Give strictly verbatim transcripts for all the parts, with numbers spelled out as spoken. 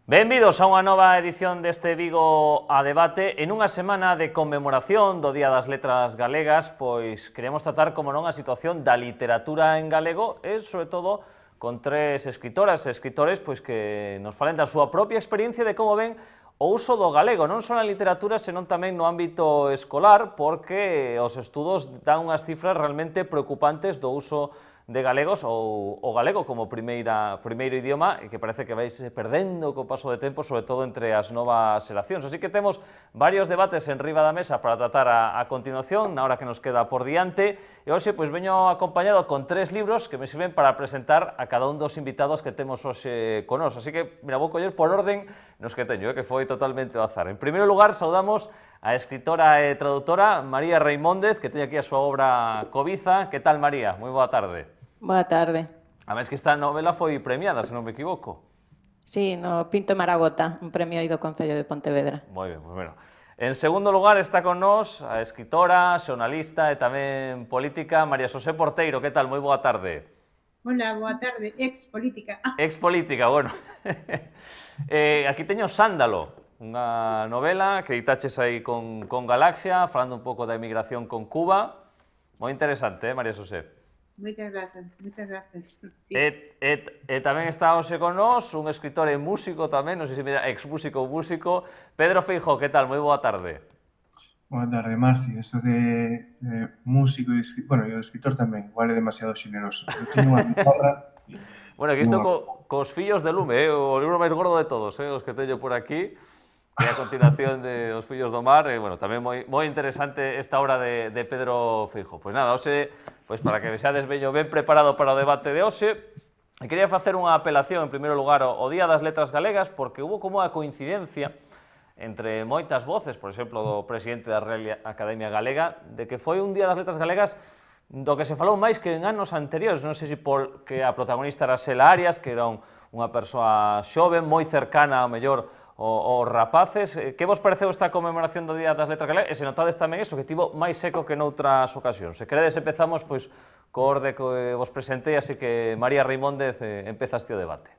Benvidos a unha nova edición deste Vigo a Debate. En unha semana de conmemoración do Día das Letras Galegas, pois queremos tratar, como non, a situación da literatura en galego e, sobre todo, con tres escritoras e escritores pois que nos falen da súa propia experiencia de como ven o uso do galego, non só na literatura, senón tamén no ámbito escolar, porque os estudos dan unhas cifras realmente preocupantes do uso de galegos ou o galego como primeira, primeiro idioma e que parece que vais perdendo co paso de tempo, sobre todo entre as novas xeracións. Así que temos varios debates en riba da mesa para tratar a, a continuación, na hora que nos queda por diante, e hoxe pois veño acompañado con tres libros que me sirven para presentar a cada un dos invitados que temos hoxe con nos. Así que, mira, vou coller por orden nos que teño, eh, que foi totalmente ao azar. En primeiro lugar, saudamos a escritora e traductora María Reimóndez, que teñe aquí a súa obra Cobiza. Que tal, María? Moi boa tarde. Boa tarde. A máis que esta novela foi premiada, se non me equivoco. Sí, no Pinto Maragota, un premio aí do Concello de Pontevedra. Moi ben, pois bueno. En segundo lugar está con nós a escritora, xornalista e tamén política María Xosé Porteiro. Que tal? Moi boa tarde. Hola, boa tarde. Ex política. Ah. Ex política, bueno. eh, aquí teño Sándalo, unha novela que editaches aí con, con Galaxia, falando un pouco da emigración con Cuba. Moi interesante, eh, María Xosé? Moitas grazas, moitas grazas. Sí. E, e, e tamén está hoxe con nós un escritor e músico tamén, non sei se mira, ex músico ou músico, Pedro Feijóo. Que tal? Moi boa tarde. Boa tarde, Marci. Eso de, de músico e escritor, bueno, e o escritor tamén, igual é demasiado xeneroso. Eu teño unha guitarra. Bueno, aquí estou co, cos fillos de lume, eh? O libro máis gordo de todos, eh? Os que teño por aquí. E a continuación de Os Fillos do Mar, e, bueno, tamén moi, moi interesante esta obra de, de Pedro Feijóo. Pois nada, hoxe, pois para que vexades veño ben preparado para o debate de hoxe, e quería facer unha apelación, en primeiro lugar, ao Día das Letras Galegas, porque hubo como a coincidencia entre moitas voces, por exemplo, do presidente da Real Academia Galega, de que foi un Día das Letras Galegas do que se falou máis que en anos anteriores. Non sei se porque a protagonista era Xela Arias, que era un, unha persoa xoven, moi cercana ao mellor os rapaces. Que vos pareceu esta conmemoración do Día das Letras Galegas? E se notades tamén iso, que tivo máis seco que noutras ocasións. Se queredes, empezamos pois co orde que vos presentei, así que María Reimóndez, eh, empezaste o debate.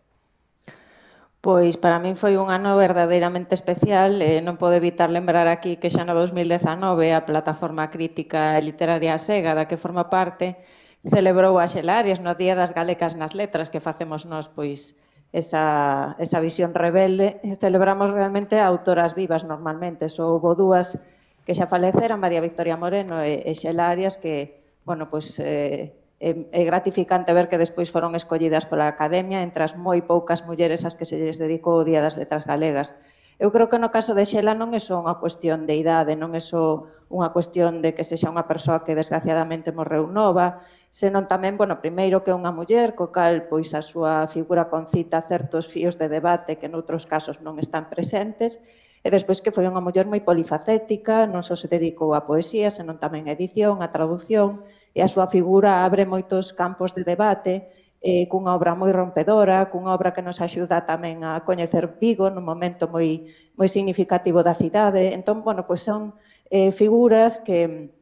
Pois para min foi un ano verdadeiramente especial, e non podo evitar lembrar aquí que xa no dos mil dezanove a plataforma crítica e literaria Sega, da que forma parte, celebrou a Xela Arias no Día das Galegas nas Letras, que facemos nós, pois, esa, esa visión rebelde. Celebramos realmente a autoras vivas normalmente. Só houve dúas que xa faleceran, María Victoria Moreno e, e Xela Arias, que, bueno, pois, eh, é, é gratificante ver que despois foron escollidas pola Academia entre as moi poucas mulleres ás que se lles dedicou o Día das Letras Galegas. Eu creo que no caso de Xela non é só unha cuestión de idade, non é só unha cuestión de que sexa unha persoa que desgraciadamente morreu nova, senón tamén, bueno, primeiro que é unha muller, co cal pois a súa figura concita certos fíos de debate que noutros casos non están presentes, e despois que foi unha muller moi polifacética, non só se dedicou á poesía, senón tamén á edición, á traducción, e a súa figura abre moitos campos de debate, eh, cunha obra moi rompedora, cunha obra que nos axuda tamén a coñecer Vigo nun momento moi, moi significativo da cidade. Entón, bueno, pois son eh, figuras que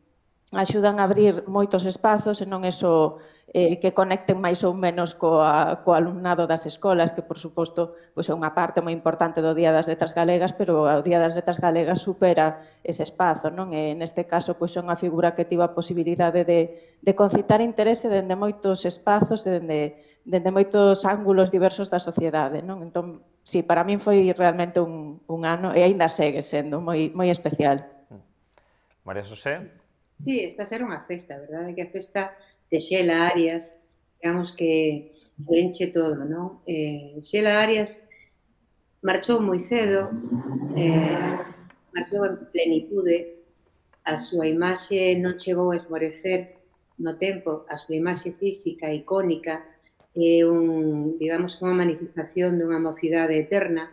axudan a abrir moitos espazos e non é só eh, que conecten máis ou menos coa, co alumnado das escolas, que, por suposto, pois é unha parte moi importante do Día das Letras Galegas, pero o Día das Letras Galegas supera ese espazo, non? E neste caso, pois é unha figura que tivo a posibilidade de, de concitar interese dende moitos espazos, dende, dende moitos ángulos diversos da sociedade, non? Entón, sí, para min foi realmente un, un ano, e aínda segue sendo moi, moi especial. María Xosé? Sí, esta será unha festa, verdade? Que a festa de Xela Arias, digamos que enche todo, non? Eh, Xela Arias marchou moi cedo, eh, marchou en plenitude, a súa imaxe non chegou a esmorecer no tempo, a súa imaxe física icónica é un, digamos, unha manifestación dunha mocidade eterna,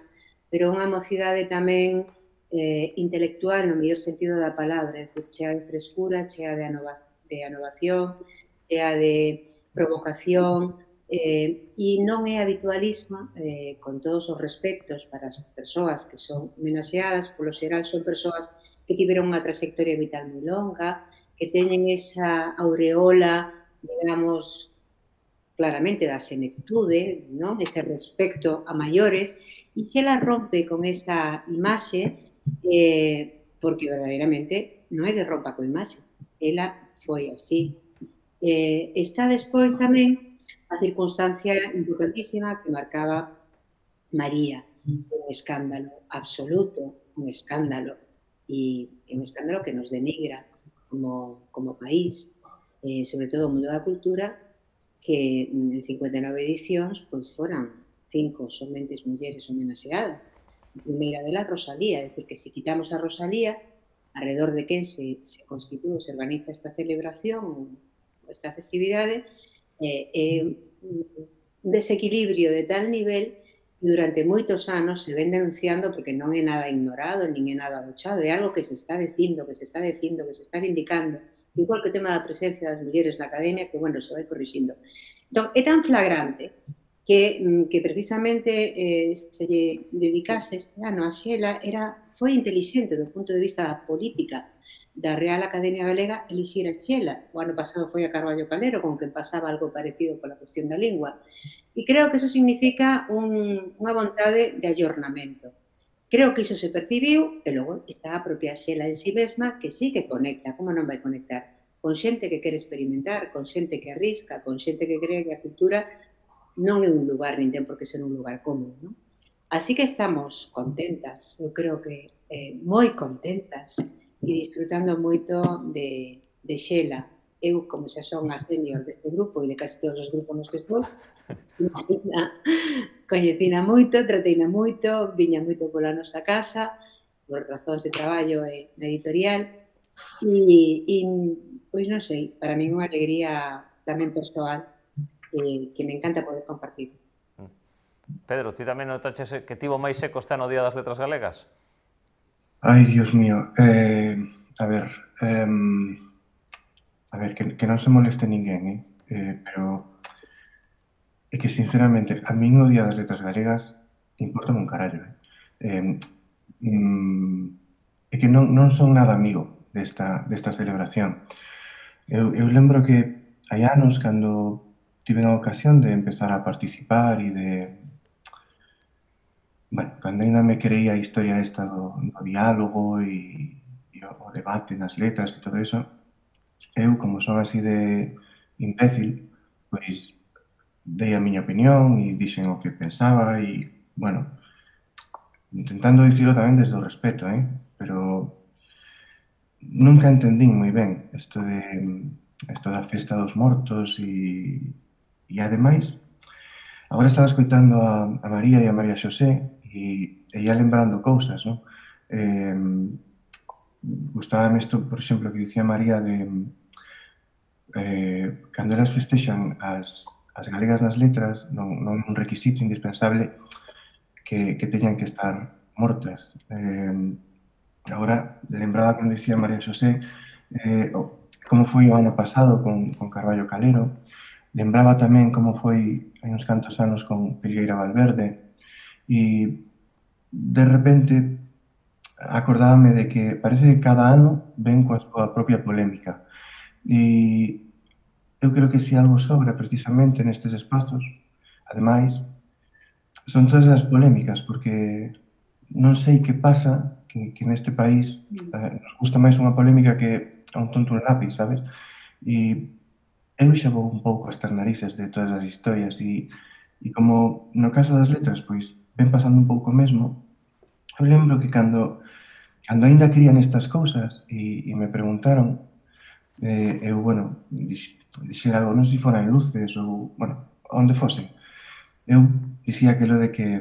pero unha mocidade tamén eh, intelectual no mellor sentido da palabra, é dicir, chea de frescura, chea de, anova, de anovación, chea de provocación, eh, e non é habitualismo, eh, con todos os respectos para as persoas que son homenaxeadas, polo xeral son persoas que tiveron unha trayectoria vital moi longa, que teñen esa aureola, digamos, claramente da senectude, non? Ese respecto a maiores, e Xela rompe con esa imaxe eh, porque verdadeiramente non é que rompa coa imaxe, ela foi así. Eh, está despois tamén a circunstancia importantísima que marcaba María, un escándalo absoluto, un escándalo, e un escándalo que nos denigra como, como país, eh, sobre todo o mundo da cultura, que en cincuenta e nove edicións pois foran cinco somente mulleres homenaxeadas. A primeira delas, Rosalía, é dicir, que se quitamos a Rosalía, alrededor de quen se, se constitúe, se organiza esta celebración, esta festividade, é eh, un desequilibrio de tal nivel que durante moitos anos se ven denunciando porque non é nada ignorado, nin é nada agochado, é algo que se está dicindo, que se está dicindo, que se está vindicando, igual que o tema da presencia das mulleres na academia, que, bueno, se vai corrixindo. Entón, é tan flagrante que, que precisamente eh, se lle dedicase este ano a Xela era, foi inteligente do punto de vista da política da Real Academia Galega elixir a Xela. O ano pasado foi a Carballo Calero, con que pasaba algo parecido pola cuestión da lingua. E creo que eso significa un, unha vontade de ayornamento. Creo que iso se percibiu, e logo está a propia Xela en si mesma, que sí que conecta, como non vai conectar, con xente que quere experimentar, con xente que arrisca, con xente que cree que a cultura non é un lugar, nin ten por que ser un lugar cómodo, non? Así que estamos contentas, eu creo que eh, moi contentas, e disfrutando moito de, de Xela. Eu, como xa son a senior deste grupo e de casi todos os grupos nos que estou, coñecina moito, trateina moito, viña moito pola nosa casa, por razóns de traballo e na editorial, e, e pois non sei, para mí é unha alegría tamén persoal que, que me encanta poder compartir. Pedro, ti tamén notaches que tivo máis eco este ano o Día das Letras Galegas? Ai, Dios mío, eh, a ver, eh, a ver, que, que non se moleste ninguén, eh? Eh, pero é que, sinceramente, a min o Día das Letras Galegas importa un carallo, eh? Eh, mm, é que non, non son nada amigo desta, desta celebración. Eu, eu lembro que hai anos, cando tive a ocasión de empezar a participar e de... Bueno, cando ainda me creía a historia esta do, do diálogo e, e o, o debate nas letras e todo eso, eu, como son así de imbécil, pois dei a miña opinión e dixen o que pensaba e, bueno, intentando dicilo tamén desde o respeto, eh? Pero nunca entendín moi ben isto de isto da festa dos mortos e, e ademais, agora estaba escoitando a, a María e a María Xosé e, e ia lembrando cousas, non? Eh, gustábame isto, por exemplo, que dicía María de eh, cando elas festexan as, as galegas nas letras, non, non é un requisito indispensable que, que teñan que estar mortas. Eh, agora, lembraba cando dicía María Xosé eh, como foi o ano pasado con, con Carballo Calero, lembraba tamén como foi hai uns cantos anos con Filgueira Valverde e de repente acordábame de que parece que cada ano ven coa súa propia polémica e eu creo que se algo sobra precisamente nestes espazos, ademais, son todas as polémicas porque non sei que pasa que, que neste país eh, nos gusta máis unha polémica que a un tonto un lápiz, sabes? E eu xa vou un pouco estas narices de todas as historias e, e como no caso das letras, pois ven pasando un pouco mesmo, eu lembro que cando, cando ainda crían estas cousas e, e me preguntaron, eh, eu, bueno, dix, dixera algo, non sei se fora en luces ou, bueno, onde fose, eu dicía aquilo de que,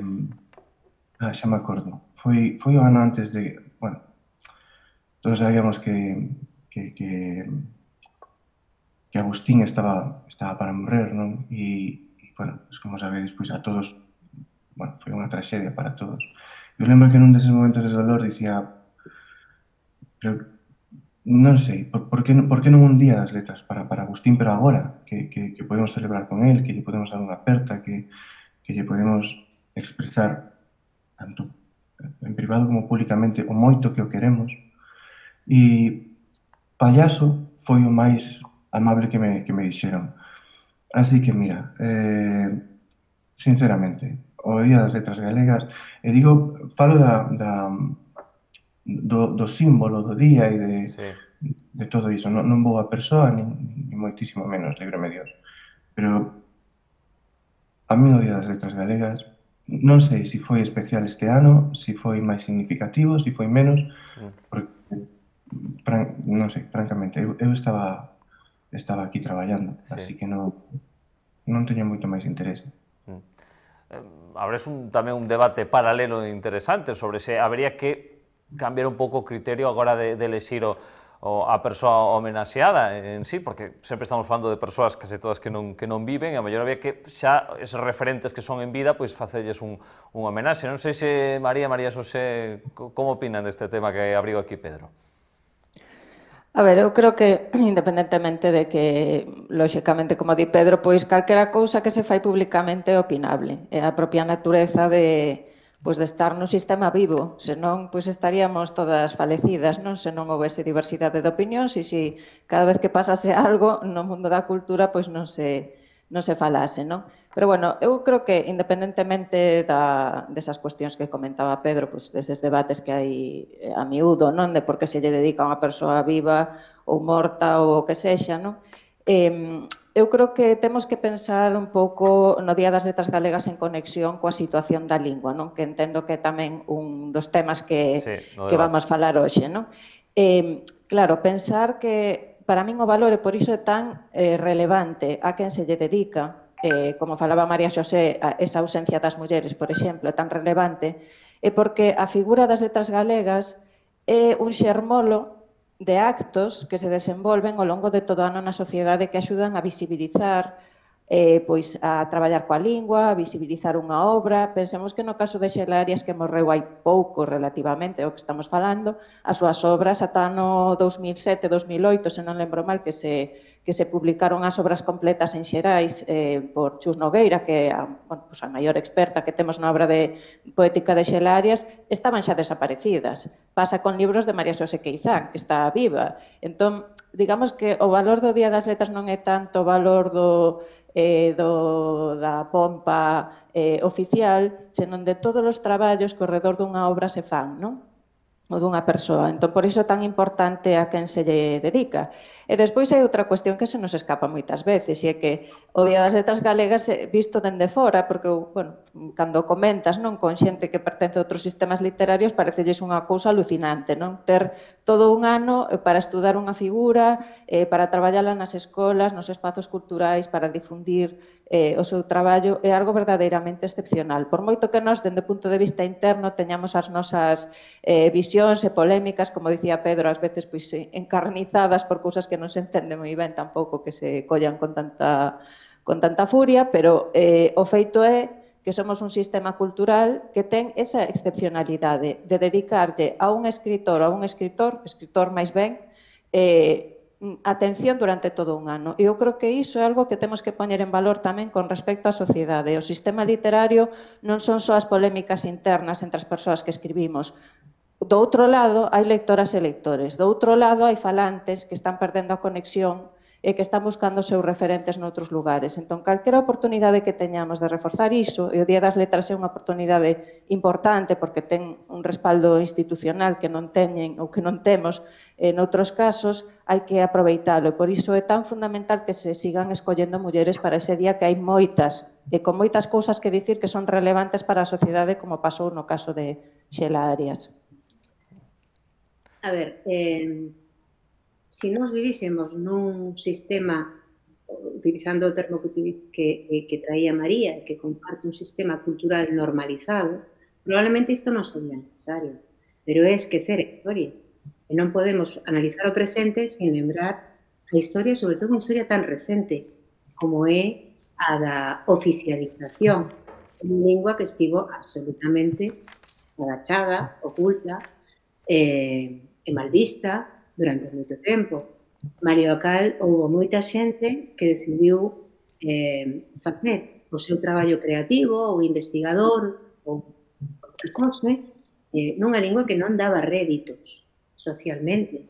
ah, xa me acordo, foi, foi o ano antes de, bueno, todos sabíamos que, que, que que Agustín estaba, estaba para morrer, non? E, e bueno, pues como sabedes, pois a todos, bueno, foi unha traxedia para todos. Eu lembro que nun deses momentos de dolor dicía, pero non sei, por, por, que, por que non un día das letras para, para Agustín, pero agora, que, que, que podemos celebrar con él, que lle podemos dar unha aperta, que, que lle podemos expresar tanto en privado como públicamente o moito que o queremos. E Pallaso foi o máis amable que me, que me dixeron. Así que, mira, eh, sinceramente, o Día das Letras Galegas, e digo, falo da, da, do, do símbolo do día e de, Sí. de todo iso. Non, non vou a persoa, nin, nin moitísimo menos, líbrame Dios. Pero a mí o Día das Letras Galegas, non sei se foi especial este ano, se foi máis significativo, se foi menos, porque, fran, non sei, francamente, eu, eu estaba estaba aquí traballando, Sí. así que non, non teño moito máis interese. Abres un, tamén un debate paralelo interesante sobre se habería que cambiar un pouco o criterio agora de, de elexir o, o, a persoa homenaxeada en sí, porque sempre estamos falando de persoas case todas que non, que non viven, e a mellor había que xa esos referentes que son en vida, pois facelles un, un homenaxe. Non sei se María, María Xosé, como opinan deste tema que abrigo aquí Pedro? A ver, eu creo que, independentemente de que, lóxicamente, como di Pedro, pois calquera cousa que se fai públicamente é opinable. É a propia natureza de, pois, de estar no sistema vivo. Senón, pois estaríamos todas falecidas, non? Se non houvese diversidade de opinións e se cada vez que pasase algo no mundo da cultura, pois non se, non se falase, non? Pero, bueno, eu creo que, independentemente da, desas cuestións que comentaba Pedro, pois, deses debates que hai a miúdo, non? De por que se lle dedica a unha persoa viva ou morta ou o que sexa, non? Eh, eu creo que temos que pensar un pouco no Día das Letras Galegas en conexión coa situación da lingua, non? Que entendo que é tamén un dos temas que, Sí, que vamos falar hoxe, non? Eh, claro, pensar que para min o valor, e por iso é tan eh, relevante a quen se lle dedica, eh, como falaba María Xosé, esa ausencia das mulleres, por exemplo, é tan relevante, é porque a figura das letras galegas é un xermolo de actos que se desenvolven ao longo de todo o ano na sociedade que axudan a visibilizar, eh, pois a traballar coa lingua, a visibilizar unha obra. Pensemos que no caso de Xela Arias, que morreu hai pouco relativamente, o que estamos falando, as súas obras ata no dos mil sete, dos mil oito, se non lembro mal, que se, que se publicaron as obras completas en Xerais eh, por Chus Nogueira, que é a, bueno, pues a maior experta que temos na obra de poética de Xela Arias, estaban xa desaparecidas. Pasa con libros de María Xosé Queizán, que está viva. Entón, digamos que o valor do Día das Letras non é tanto o valor do, eh, do, da pompa eh, oficial, senón de todos os traballos que ao redor dunha obra se fan, non? Ou dunha persoa. Entón, por iso é tan importante a quen se lle dedica. E despois hai outra cuestión que se nos escapa moitas veces, e é que o Día das Letras Galegas visto dende fora, porque, bueno, cando comentas, non, con xente que pertence a outros sistemas literarios, parecelles unha cousa alucinante, non? Ter todo un ano para estudar unha figura, eh, para traballala nas escolas, nos espazos culturais, para difundir eh, o seu traballo, é algo verdadeiramente excepcional. Por moito que nós, dende o punto de vista interno, teñamos as nosas eh, visións e polémicas, como dicía Pedro, ás veces pois, encarnizadas por cousas que non se entende moi ben tampouco que se collan con tanta, con tanta furia, pero eh, o feito é que somos un sistema cultural que ten esa excepcionalidade de dedicarlle a un escritor ou a un escritor, escritor máis ben, eh, atención durante todo un ano. E eu creo que iso é algo que temos que poñer en valor tamén con respecto á sociedade. O sistema literario non son só as polémicas internas entre as persoas que escribimos. Do outro lado, hai lectoras e lectores. Do outro lado, hai falantes que están perdendo a conexión e que están buscando seus referentes noutros lugares. Entón, calquera oportunidade que teñamos de reforzar iso, e o Día das Letras é unha oportunidade importante porque ten un respaldo institucional que non teñen ou que non temos en outros casos, hai que aproveitalo. Por iso é tan fundamental que se sigan escollendo mulleres para ese día, que hai moitas, e con moitas cousas que dicir que son relevantes para a sociedade, como pasou no caso de Xela Arias. A ver, eh, se nós vivísemos nun sistema, utilizando o termo que, que, que traía María, que comparte un sistema cultural normalizado, probablemente isto non sería necesario, pero é esquecer a historia. E non podemos analizar o presente sin lembrar a historia, sobre todo unha historia tan recente como é a da oficialización de unha lingua que estivo absolutamente agachada, oculta, eh, e mal vista durante moito tempo. Mario Acal, houve moita xente que decidiu eh, facer o seu traballo creativo ou investigador ou que fose eh, nunha lingua que non daba réditos socialmente.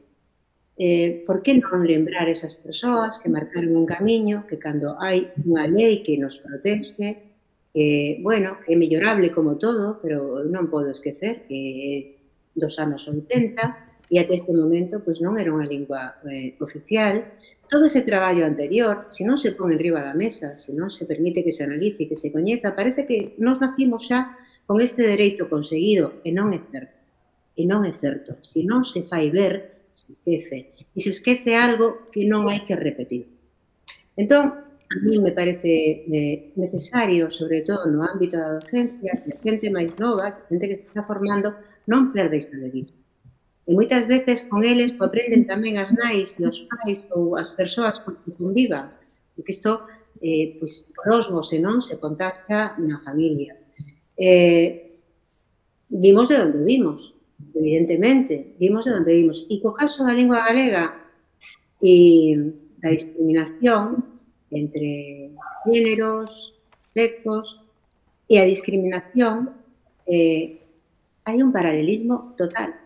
Eh, por que non lembrar esas persoas que marcaron un camiño, que cando hai unha lei que nos protege, que, bueno, que é mellorable como todo, pero non podo esquecer que dos anos oitenta e até este momento pois non era unha lingua eh, oficial. Todo ese traballo anterior, se non se pon en riba da mesa, se non se permite que se analice, que se coñeza, parece que nos nacimos xa con este dereito conseguido e non é certo. E non é certo. Se non se fai ver, se esquece. E se esquece algo que non hai que repetir. Entón, a mí me parece eh, necesario, sobre todo no ámbito da docencia, que a xente máis nova, que a xente que se está formando, non perda isto de vista. E moitas veces con eles o aprenden tamén as nais e os pais ou as persoas con que convivan. Porque isto, eh, pois, por osmose, non? Se contagia na familia. Eh, vimos de onde vimos. Evidentemente, vimos de onde vimos. E co caso da lingua galega e da discriminación entre géneros, sexos e a discriminación, eh, hai un paralelismo total.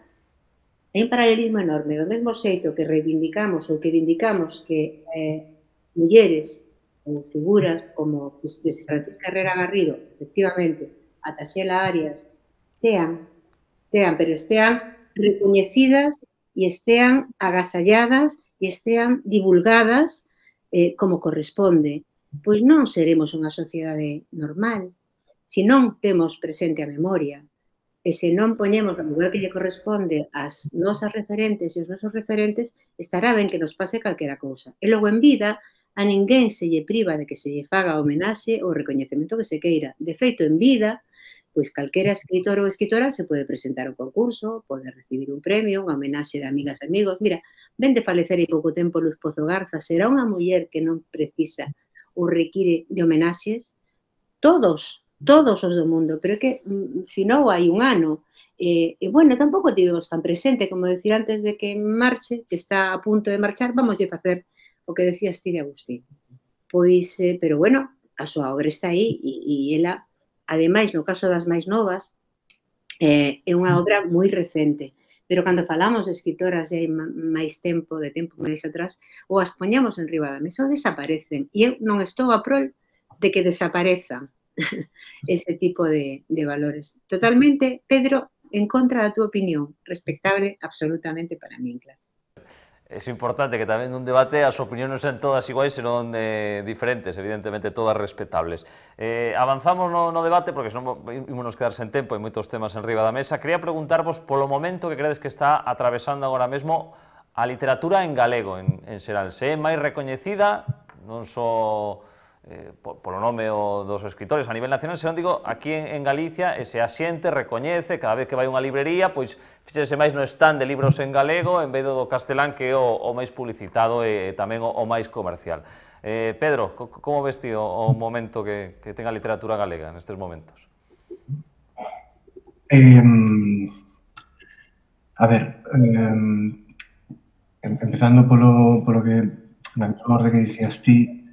Hai un paralelismo enorme. Do mesmo xeito que reivindicamos ou que vindicamos que eh, mulleres ou figuras como pues, desde Francisca Herrera Garrido, efectivamente, ata Xela Arias, tean estean, pero estean recoñecidas e estean agasalladas e estean divulgadas eh, como corresponde. Pois non seremos unha sociedade normal se non temos presente a memoria e se non poñemos no lugar que lle corresponde as nosas referentes e os nosos referentes, estará ben que nos pase calquera cousa. E logo en vida a ninguén se lle priva de que se lle faga homenaxe ou recoñecemento que se queira. De feito, en vida, pois calquera escritor ou escritora se pode presentar ao concurso, pode recibir un premio, unha homenaxe de amigas e amigos. Mira, ven de falecer hai pouco tempo Luz Pozo Garza, será unha muller que non precisa ou require de homenaxes? Todos, todos os do mundo, pero é que finou hai un ano. E, e bueno, tampouco tivemos tan presente, como decir antes de que marche, que está a punto de marchar, vamos a facer o que decía Steve Agustín. Pois, eh, pero bueno, a súa obra está aí e, e ela, ademais, no caso das máis novas, eh, é unha obra moi recente. Pero cando falamos de escritoras de máis tempo, de tempo máis atrás, ou as poñamos en riba da mesa ou desaparecen. E eu non estou a prol de que desaparezan ese tipo de, de valores. Totalmente, Pedro, en contra da túa opinión, respectable absolutamente para min, claro. É importante que tamén nun debate as opinións non sean todas iguais, senón eh, diferentes, evidentemente todas respetables. Eh, avanzamos no, no debate, porque senón ímonos quedar sen tempo, hai moitos temas en riba da mesa. Quería preguntarvos polo momento que credes que está atravesando agora mesmo a literatura en galego, en, en xeral. Se é máis recoñecida, non só eh, polo nome o dos escritores a nivel nacional, senón digo, aquí en, en Galicia, e se a xente recoñece, cada vez que vai a unha librería, pois fíxese máis no stand de libros en galego, en vez do castelán, que é o, o máis publicitado e tamén o, o máis comercial. Eh, Pedro, co, como ves ti o, o momento que, que ten a literatura galega nestes momentos? Eh, a ver, eh, empezando polo, polo que, na mesma orde que dicías ti,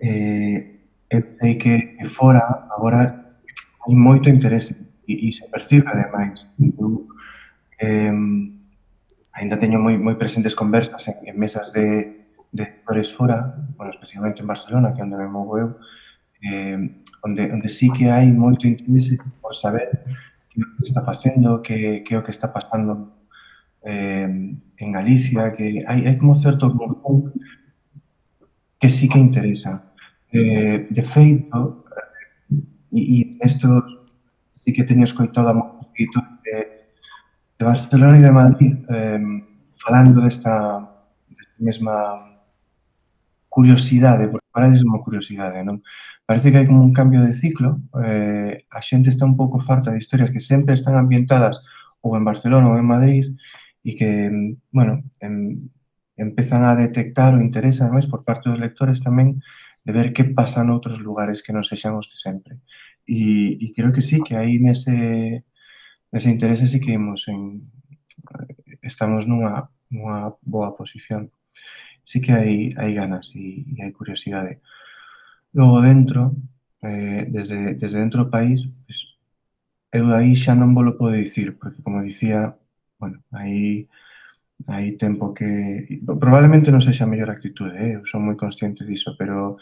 eh, eu sei que fora agora hai moito interese e, e se percibe ademais. Eu, eh, ainda teño moi, moi presentes conversas en, en mesas de, de editores fora, bueno, especialmente en Barcelona, que é onde me movo eu, eh, onde, onde sí que hai moito interese por saber que é o que está facendo, que, que é o que está pasando eh, en Galicia, que hai, hai como certo conjunto que sí que interesa. Eh, de feito, e, e isto sí que teño escoitado a moitos escritores de, de Barcelona e de Madrid eh, falando desta, desta mesma curiosidade, porque para eles é unha curiosidade, non? Parece que hai como un cambio de ciclo, eh, a xente está un pouco farta de historias que sempre están ambientadas ou en Barcelona ou en Madrid e que, bueno, en, empezan a detectar o interese, ademais, por parte dos lectores tamén, de ver que pasa noutros lugares que non sexan os de sempre. E, e creo que sí, que aí nese, nese interese sí que imos en, estamos nunha, nunha boa posición. Sí que hai, hai ganas e, e hai curiosidade. Logo dentro, eh, desde, desde dentro do país, pues, eu aí xa non vos lo podo dicir, porque como dicía, bueno, aí hai tempo que... Probablemente non sexa a mellor actitude, eh? Eu son moi consciente diso, pero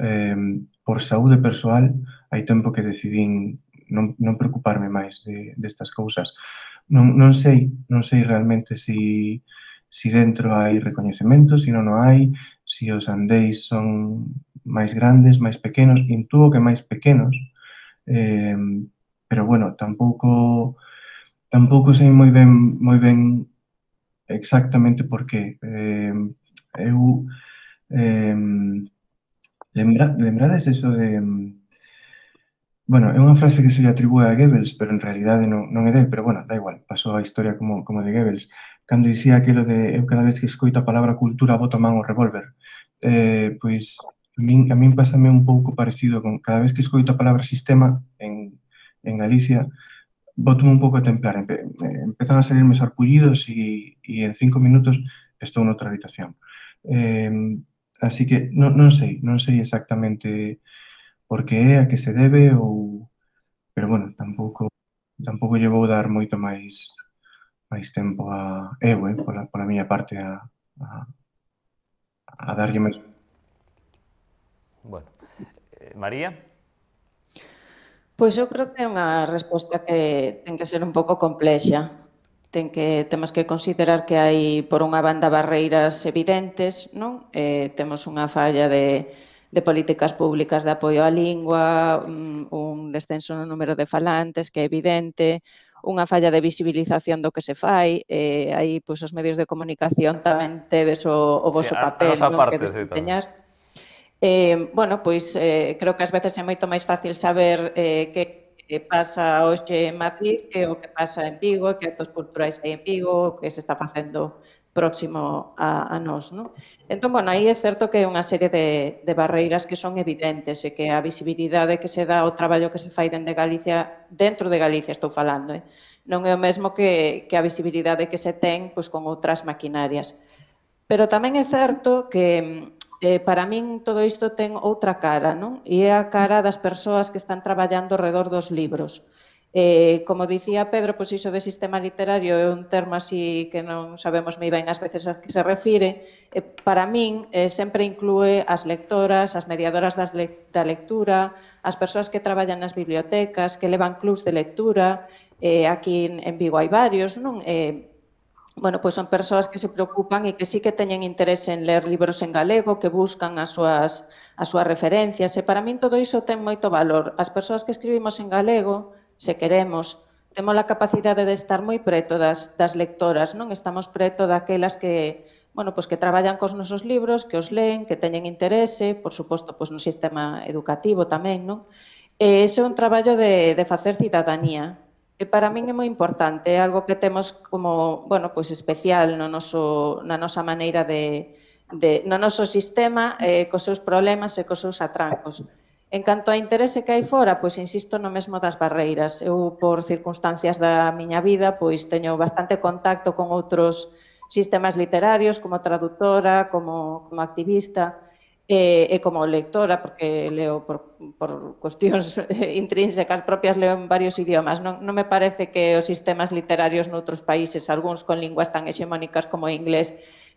eh, por saúde persoal hai tempo que decidín non, non preocuparme máis de, destas cousas. Non, non sei, non sei realmente si, si dentro hai recoñecemento, si non o hai, si os andeis son máis grandes, máis pequenos, intúo que máis pequenos, eh, pero bueno, tampouco tampouco sei moi ben moi ben exactamente por qué. Eh, eu eh, lembra, lembrades eso de... Bueno, é unha frase que se lle atribúe a Goebbels, pero en realidade non, non é del, pero bueno, da igual, pasou a historia como, como de Goebbels, cando dicía aquilo de eu cada vez que escoito a palabra cultura boto a man o revólver. Eh, pois a min, a min pásame un pouco parecido con cada vez que escoito a palabra sistema en, en Galicia, boto un pouco a templar, empe, eh, empezan a salirme sarpullidos e, e en cinco minutos estou noutra habitación. Eh, así que non, non sei, non sei exactamente por que é, a que se debe ou... Pero, bueno, tampouco tampouco lle vou dar moito máis máis tempo a eu, eh, pola, pola miña parte a, a, a darlle máis... Bueno, eh, María? Pois eu creo que é unha resposta que ten que ser un pouco complexa. Ten que, temos que considerar que hai, por unha banda, barreiras evidentes, non? Eh, temos unha falla de de políticas públicas de apoio á lingua, un descenso no número de falantes, que é evidente, unha falla de visibilización do que se fai, eh, aí pois, os medios de comunicación tamén tedes o, o voso sí, a, papel, a non? Parte, Que desempeñar. Eh, bueno, pois eh, creo que ás veces é moito máis fácil saber eh, que que pasa hoxe en Madrid, que o que pasa en Vigo, que actos culturais hai en Vigo, que se está facendo próximo a, a nós, non? Entón, bueno, aí é certo que é unha serie de, de barreiras que son evidentes e que a visibilidade que se dá ao traballo que se fai dende Galicia, dentro de Galicia estou falando, eh? Non é o mesmo que, que a visibilidade que se ten pois, con outras maquinarias. Pero tamén é certo que eh, para min todo isto ten outra cara, non? E é a cara das persoas que están traballando ao redor dos libros. Eh, como dicía Pedro, pois iso de sistema literario é un termo así que non sabemos moi ben ás veces a que se refire. Eh, para min eh, sempre inclúe as lectoras, as mediadoras das le da lectura, as persoas que traballan nas bibliotecas, que levan clubs de lectura, eh, aquí en, en Vigo hai varios, non? Eh, bueno, pois son persoas que se preocupan e que sí que teñen interese en ler libros en galego, que buscan as súas, as súas referencias, e para min todo iso ten moito valor. As persoas que escribimos en galego, se queremos, temos a capacidade de estar moi preto das, das lectoras, non? Estamos preto daquelas que, bueno, pois que traballan cos nosos libros, que os leen, que teñen interese, por suposto, pois no sistema educativo tamén, non? E ese é un traballo de, de facer cidadanía. E para min é moi importante, é algo que temos como, bueno, pois especial no noso, na nosa maneira de, de no noso sistema, eh, cos seus problemas e cos seus atrancos. En canto a interese que hai fora, pois insisto no mesmo das barreiras. Eu, por circunstancias da miña vida, pois teño bastante contacto con outros sistemas literarios, como traductora, como, como activista, e, e como lectora, porque leo por, por cuestións intrínsecas propias, leo en varios idiomas. Non, non me parece que os sistemas literarios noutros países, algúns con linguas tan hexemónicas como o inglés,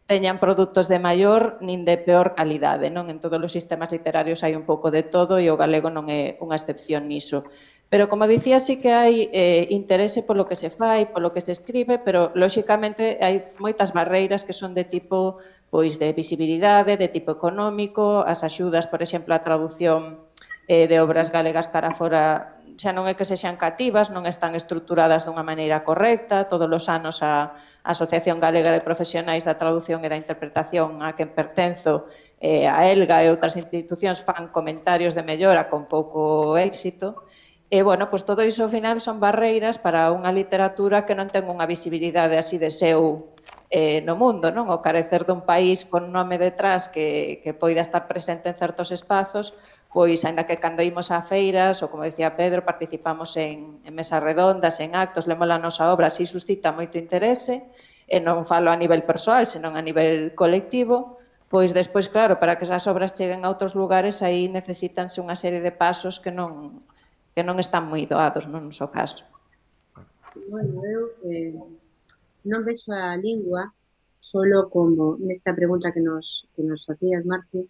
teñan produtos de maior nin de peor calidade, non? En todos os sistemas literarios hai un pouco de todo e o galego non é unha excepción niso. Pero, como dicía, sí que hai eh, interese polo que se fai, polo que se escribe, pero, lóxicamente, hai moitas barreiras que son de tipo pois de visibilidade, de tipo económico, as axudas, por exemplo, a traducción eh, de obras galegas cara fora xa non é que sexan cativas, non están estruturadas dunha maneira correcta, todos os anos a A Asociación Galega de Profesionais da Traducción e da Interpretación a quen pertenzo, eh, a ELGA e outras institucións fan comentarios de mellora con pouco éxito. E, bueno, pois todo iso ao final son barreiras para unha literatura que non ten unha visibilidade así de seu eh, no mundo, non? O carecer dun país con nome detrás que, que poida estar presente en certos espazos, pois, ainda que cando imos a feiras, ou como decía Pedro, participamos en, en mesas redondas, en actos, lemos a nosa obra, así suscita moito interese, e non falo a nivel persoal, senón a nivel colectivo, pois despois, claro, para que esas obras cheguen a outros lugares, aí necesítanse unha serie de pasos que non, que non están moi doados, non no seu caso. Bueno, eu eh, non vexo a lingua solo como, nesta pregunta que nos, que nos facías, Marci,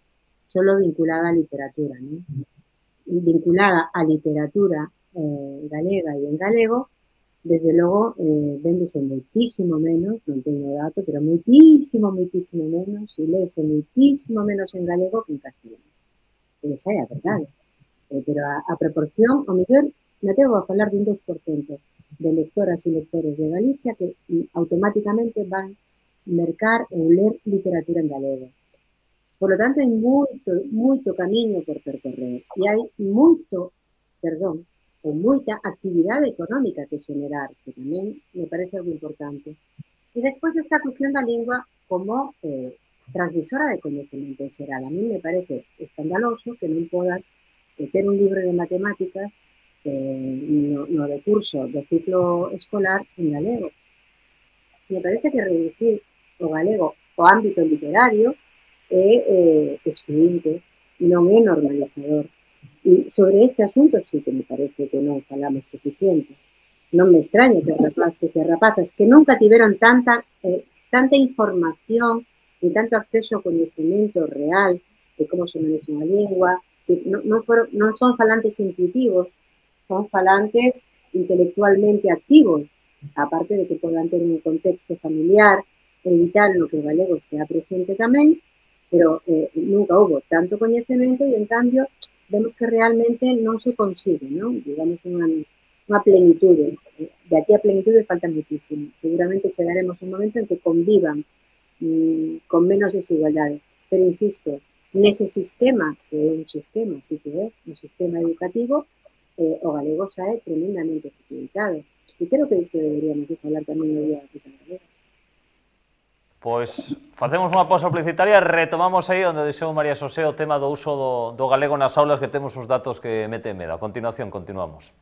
solo vinculada á literatura, ¿no? Vinculada á literatura eh, galega e en galego, desde logo, eh, véndese moitísimo menos, non teño dato, pero moitísimo, moitísimo menos, e léese moitísimo menos en galego que en castellano. E esa é a verdade. Eh, pero a, a proporción, o mellor, me atrevo a falar dun dos por cento de lectoras e lectores de Galicia que mm, automáticamente van mercar ou ler literatura en galego. Por lo tanto, hai moito, moito camiño por percorrer e hai moito, perdón, ou moita actividade económica que xenerar, que tamén me parece algo importante. E despois esta cuestión da lingua como eh, transmisora de coñecemento en xeral. A mí me parece escandaloso que non podas eh, ter un libro de matemáticas eh, no, no recurso do ciclo escolar en galego. Me parece que reducir o galego ao ámbito literario é eh, excluinte, non é normalizador. E sobre este asunto sí que me parece que non falamos suficiente. Non me extraña que rapaces e rapazas que nunca tiveron tanta, eh, tanta información e tanto acceso ao coñecemento real de como se manexa unha lingua, que non, non, foron, non son falantes intuitivos, son falantes intelectualmente activos, aparte de que podan ter un contexto familiar e vital no que o galego estea presente tamén, pero eh, nunca houve tanto coñecemento e, en cambio, vemos que realmente non se consigue, non? Digamos, unha, unha plenitude. De aquí a plenitude falta muchísimo. Seguramente chegaremos a un momento en que convivan mmm, con menos desigualdade. Pero, insisto, nese sistema, que é un sistema, sí que é, un sistema educativo, eh, o galego xa é tremendamente facilitado. E creo que isto deberíamos de falar tamén no día da Cita Galega. Pois facemos unha pausa publicitaria, retomamos aí onde deixou María Xosé o tema do uso do, do galego nas aulas, que temos uns datos que meten medo. A continuación, continuamos.